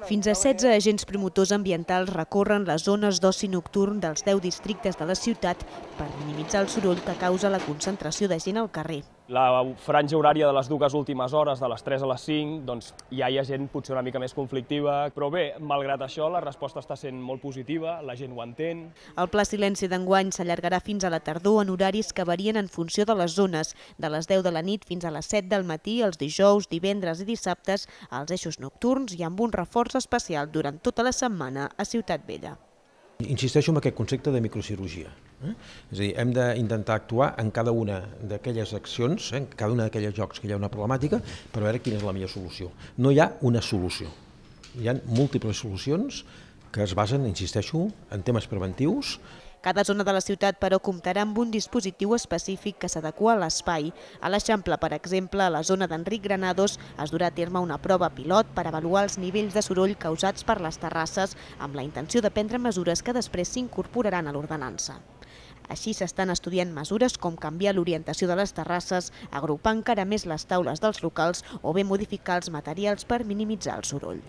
Fins a 16 agents promotors ambientals recorren les zones d'oci nocturn dels 10 districtes de la ciutat per minimitzar el soroll que causa la concentració de gent al carrer. La franja horària de les dues últimes hores, de les 3 a les 5, doncs ja hi ha gent potser una mica més conflictiva, però bé, malgrat això, la resposta està sent molt positiva, la gent ho entén. El Pla Silenci d'enguany s'allargarà fins a la tardor en horaris que varien en funció de les zones, de les 10 de la nit fins a les 7 del matí, els dijous, divendres i dissabtes, als eixos nocturns i amb un reforç especial durant tota la setmana a Ciutat Vella. Insisteixo en aquest concepte de microcirurgia. És a dir, hem d'intentar actuar en cada una d'aquelles accions, en cada una d'aquells llocs que hi ha una problemàtica, per veure quina és la millor solució. No hi ha una solució. Hi ha múltiples solucions que es basen, insisteixo, en temes preventius. Cada zona de la ciutat, però, comptarà amb un dispositiu específic que s'adequa a l'espai. A l'Eixample, per exemple, a la zona d'Enric Granados, es durà a terme una prova pilot per avaluar els nivells de soroll causats per les terrasses, amb la intenció de prendre mesures que després s'incorporaran a l'ordenança. Així s'estan estudiant mesures com canviar l'orientació de les terrasses, agrupar encara més les taules dels locals o bé modificar els materials per minimitzar el soroll.